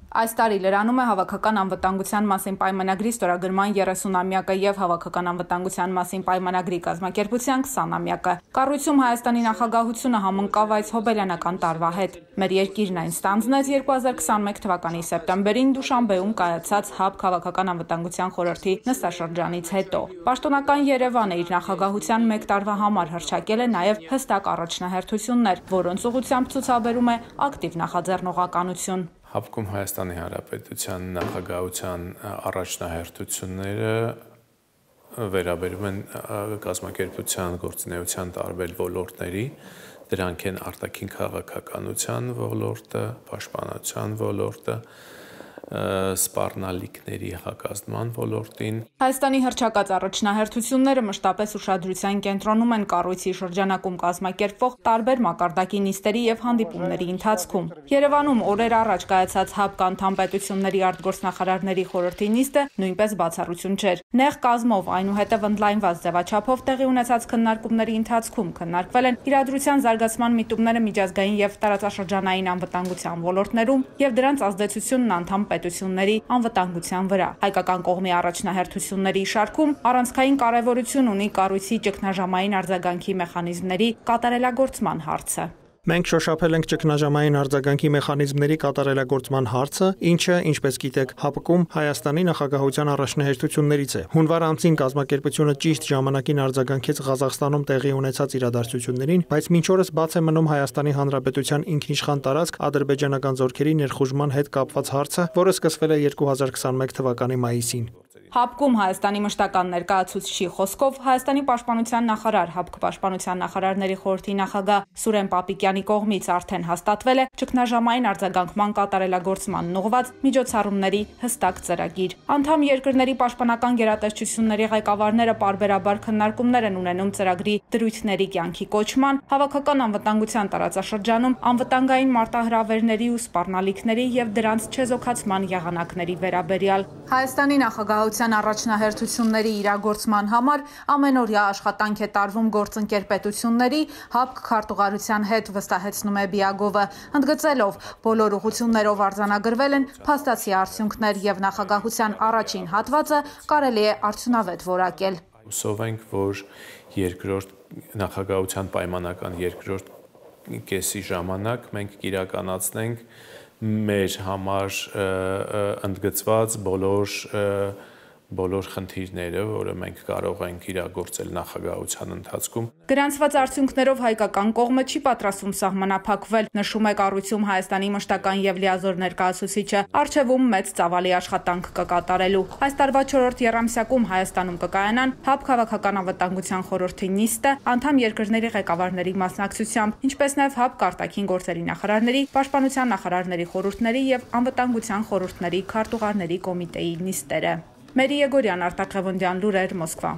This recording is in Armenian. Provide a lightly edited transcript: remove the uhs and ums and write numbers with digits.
Այս տարի լրանում է Հավաքական անվտանգության մասին պայմանագրի ստորագրման 30-ամյակը և Հավաքական անվտանգության մասին պայմանագրի կազմակերպության 20-ամյակը։ Կառույցում Հայաստանի նախագահությունը համընկավ այս հոբելյանական տարվա հետ։ Մեր երկիրն այն ստանձնեց 2021 թվականի սեպտեմբերին Դուշանբեում կայացած ՀԱԲ Հավաքական անվտանգության խորհրդի նստաշրջանից հետո։ Պաշտոնական Երևանը իր նախագահության մեկ տարվա համար հռչակել է նաև հստակ առաջնահերթություններ, որոնց ուղղությամբ ցուցաբերում է ակտիվ նախաձեռնողականություն։ ՀԱԲԿ-ում Հայաստանի Հանրապետության նախագահության առաջնահերթությունները վերաբերում են կազմակերպության գործունեության տարբեր ոլորտների, դրանք են արտաքին քաղաքականության ոլորտը, պաշտպանության ոլորտը, սպառնալիքների հակազդման ոլորտին։ Հայաստանի հռչակած առաջնահերթությունները մշտապես ուշադրության կենտրոնում են կառույցի շրջանակում կազմակերպվող տարբեր մակարդակի նիստերի և հանդիպումների ընթացքում։ Երևանում օրեր առաջ կայացած ՀԱԲԿ անդամ պետությունների արտգործնախարարների խորհրդի նիստը նույնպես բացառություն չէր։ Նեղ կազմով, այնուհետև ընդլայնված ձևաչափով տեղի ունեցած քննարկումների ընթացքում քննարկվել են իրադրության զարգացման միտումները միջազգային և տարածաշրջանային անվտանգության ոլորտներում և դրանց ազդեցությունն անդամ պետությունների անվտանգության վրա։ Հայկական կողմի առաջնահերթությունների շարքում առանցքային կարևորություն ունի կառույցի ճգնաժամային արձագանքի մեխանիզմների կատարելագործման հարցը։ Մենք շոշափել ենք ճգնաժամային արձագանքի մեխանիզմների կատարելագործման հարցը, ինչը, ինչպես գիտեք, ՀԱԲԿ-ում Հայաստանի նախագահության առաջնահերթություններից է։ Հունվար ամսին կազմակերպությունը ճիշտ ժամանակին արձագանքեց Ղազախստանում տեղի ունեցած իրադարձություններին, բայց մինչ օրս բաց է մնում Հայաստանի Հանրապետության ինքնիշխան տարածք ադրբեջանական զորքերի ներխուժման հետ կապված հարցը, որը սկսվել է 2021 թվականի մայիսին։ ՀԱԲԿ-ում Հայաստանի մշտական ներկայացուցչի խոսքով Հայաստանի պաշտպանության նախարար, ՀԱԲԿ պաշտպանության նախարարների խորհրդի նախագահ Սուրեն Պապիկյանի կողմից արդեն հաստատվել է ճգնաժամային արձագանքման կատարելագործմանն ուղղված միջոցառումների հստակ ծրագիր։ Անդամ երկրների պաշտպանական գերատեսչությունների ղեկավարները պարբերաբար քննարկումներ են ունենում ծրագրի դրույթների կյանքի կոչման, հավաքական անվտանգության տարածաշրջանում անվտանգային մարտահրավերների ու սպառնալիքների և դրանց չեզոքացման եղանակների վերաբերյալ։ Հայաստանի նախագահության առաջնահերթությունների իրագործման համար ամենօրյա աշխատանք է տարվում գործընկեր պետությունների ՀԱԲԿ քարտուղարության հետ, վստահեցնում է Բիագովը, ընդգծելով բոլոր ուղղություններով արձանագրվել են փաստացի արդյունքներ և նախագահության առաջին հատվածը կարելի է արդյունավետ որակել։ Հուսով ենք, որ նախագահության պայմանական երկրորդ կեսի ժամանակ մենք կիրականացնենք մեր համար ընդգծված բոլոր խնդիրները, որը մենք կարող ենք իրագործել նախագահության ընթացքում։ Գրանցված արդյունքներով հայկական կողմը չի պատրաստվում սահմանափակվել, նշում է կառույցում Հայաստանի մշտական և լիազոր ներկայացուցիչը, առջևում մեծ ծավալի աշխատանք կկատարելու։ Այս տարվա 4-րդ եռամսյակում Հայաստանում կկայանան ՀԱԲԿ Հավաքական անվտանգության խորհրդի նիստը անդամ երկրների ղեկավարների մասնակցությամբ, ինչպես նաև ՀԱԲԿ արտաքին գործերի նախարարների, պաշտպանության նախարարների խորհուրդների և անվտանգության խորհուրդների քարտուղարների կոմիտեի նիստերը։ Մերի Եգորյան, Արտակ Ղևոնդյան, լուրեր, Մոսկվա։